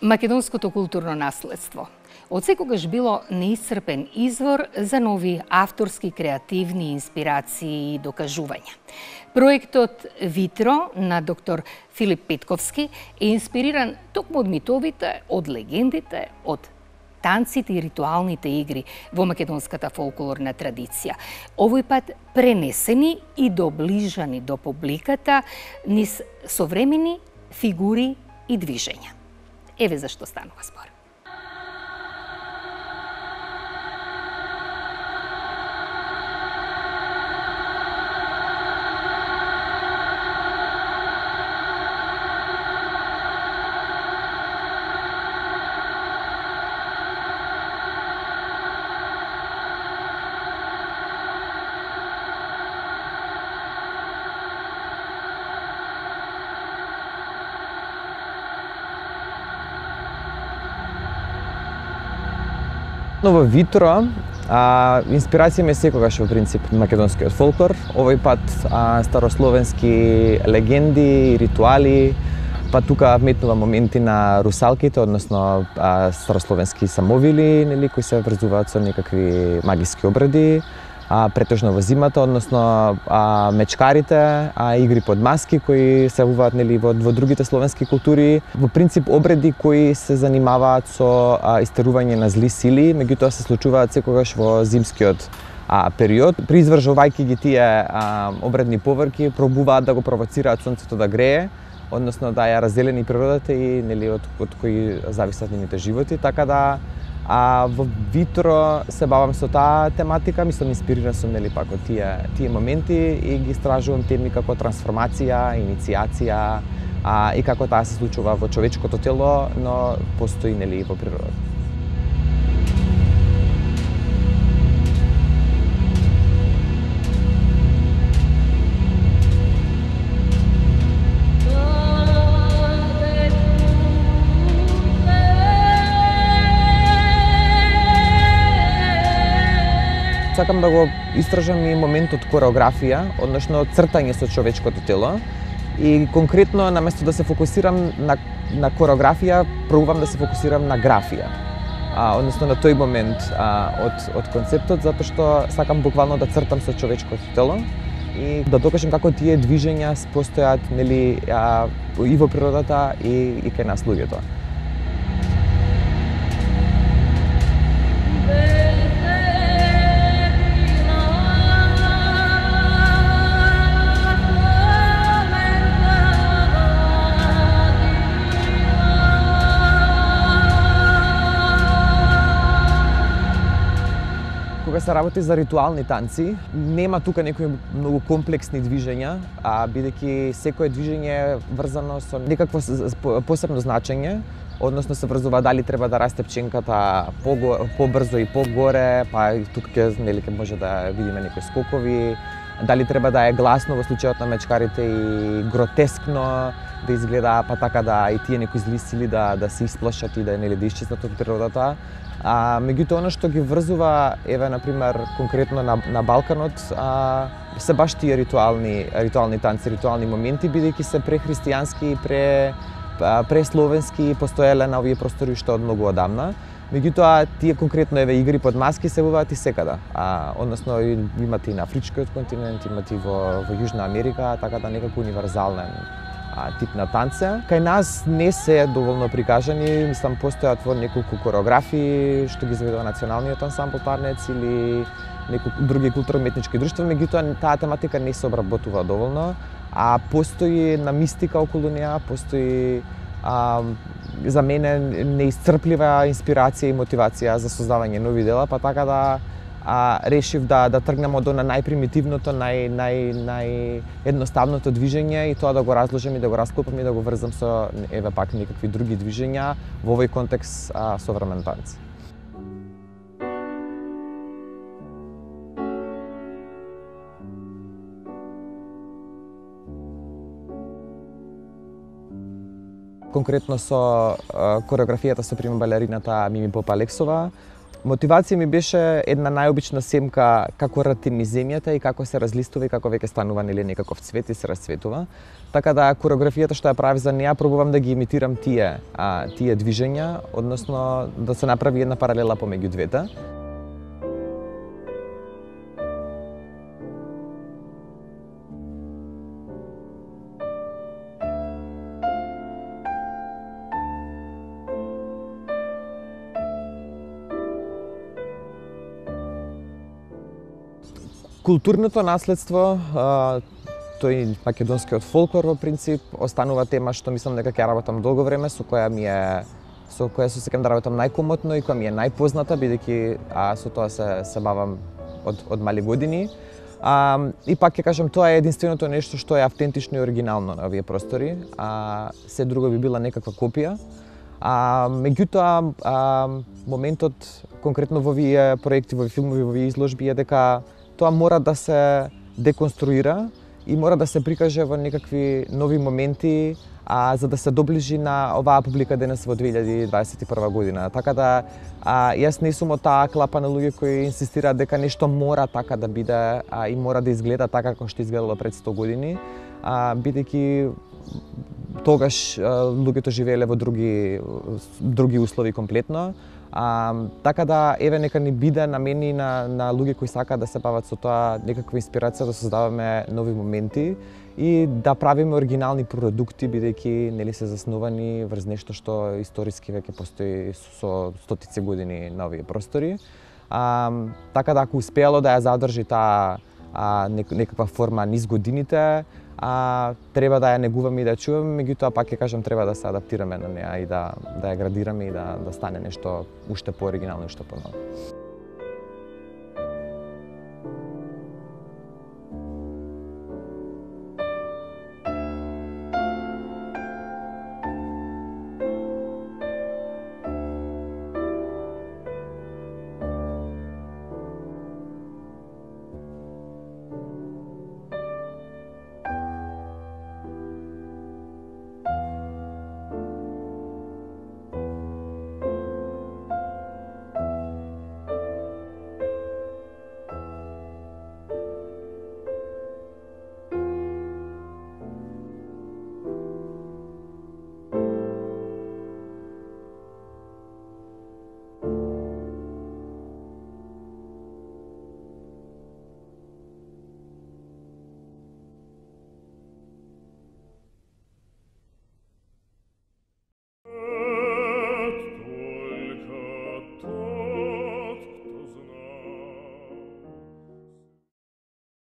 Македонското културно наследство од секогаш било неисцрпен извор за нови авторски, креативни инспирации и докажувања. Проектот Витро на доктор Филип Петковски е инспириран токму од митовите, од легендите, од танците и ритуалните игри во македонската фолклорна традиција. Овој пат пренесени и доближани до публиката низ современи фигури и движења. Еве зашто станува збор. Но во Витро, инспирација ми е секогаш во принцип македонскиот фолклор, овој пат старословенски легенди, ритуали, па тука вметнува моменти на русалките, односно старословенски самовили, нели, кои се врзуваат со некакви магиски обреди, претежно во зимата, односно мечкарите, игри под маски кои се јавуваат, нели, во другите словенски култури. Во принцип обреди кои се занимаваат со истерување на зли сили, меѓутоа се случуваат секогаш во зимскиот период. При извршувајќи ги тие обредни поврки, пробуваат да го провоцираат сонцето да грее, односно да ја разделени природата и, нели, од кои зависат нивните животи, така да во Витро се бавам со таа тематика, мислам инспириран сум, нели, пак од тие моменти и ги истражувам теми како трансформација, инициација и како таа се случува во човечкото тело, но постои, нели, во природата. Сакам да го истражам и моментот кореографија, односно цртање со човечкото тело. И конкретно, наместо да се фокусирам на кореографија, пробувам да се фокусирам на графија. Односно на тој момент од концептот, затоа што сакам буквално да цртам со човечкото тело и да докажам како тие движења постојат, нели, и во природата и кај нас луѓето. Кога се работи за ритуални танци, нема тука некои многу комплексни движења, бидејќи секое движење е врзано со некакво посебно значење, односно се врзува дали треба да расте пченката побрзо и погоре, па и тука ќе може да видиме некои скокови, дали треба да е гласно во случајот на мечкарите и гротескно да изгледа, па така да и тие некои зли сили да се исплашат и да исчезнат од природата. Меѓутоа, она што ги врзува, еве, например, конкретно на Балканот, се баш тие ритуални танци, ритуални моменти, бидејќи се прехристијански и пресловенски постоеле на овие простори уште од многу одамна. Меѓутоа, тие конкретно, еве, игри под маски се јавуваат и секада. Односно, имат и на Афричкиот континент, имат и во Јужна Америка, така да некако универзален тип на танце. Кај нас не се доволно прикажани, мислам постојат во неколку кореографии што ги заведува Националниот ансамбл Тарнец или неколку други културно-уметнички друштва, меѓутоа таа тематика не се обработува доволно, постои на мистика околу неа, постои за мене неисцрплива инспирација и мотивација за создавање нови дела, па така да решив да тргнам од она најпримитивното, наједноставното движење и тоа да го разложам и да го расклопам и да го врзам со, еве, пак некакви други движења во овој контекст современ танц. Конкретно со кореографијата со балерината Мими Попа Алексова, Мотивација ми беше една најобична семка како ратини земјата и како се разлистува и како веќе станува некаков цвет и се расцветува. Така да кореографијата што ја правив за неа пробувам да ги имитирам тие движења, односно да се направи една паралела помеѓу двете. Културното наследство, тој македонскиот фолклор во принцип, останува тема што мислам дека ќе работам долго време, со која се сеќавам да работам најкомотно и која ми е најпозната, бидејќи со тоа се бавам од мали години. И пак ќе кажам, тоа е единственото нешто што е автентично и оригинално на овие простори, се друго би била некаква копија. Меѓутоа, моментот конкретно во овие проекти, во овие филмови, во овие изложби е дека тоа мора да се деконструира и мора да се прикаже во некакви нови моменти, за да се доближи на оваа публика денес во 2021 година. Така да, јас не сум од таа клапа на луѓе кои инсистираат дека нешто мора така да биде и мора да изгледа така како што изгледало пред 100 години, бидејќи тогаш луѓето живееле во други услови комплетно. Така да, еве нека ни биде на мене и на луѓе кои сакаат да се бават со тоа некаква инспирација да создаваме нови моменти и да правиме оригинални продукти, бидејќи нели се заснувани врз нешто што историски веќе постои со стотици години на овие простори. Така да, ако успеало да ја задржи таа некаква форма низ годините, треба да ја негуваме и да ја чуваме, меѓутоа пак ќе кажам треба да се адаптираме на неа и да ја градираме и да стане нешто уште пооригинално и уште поново.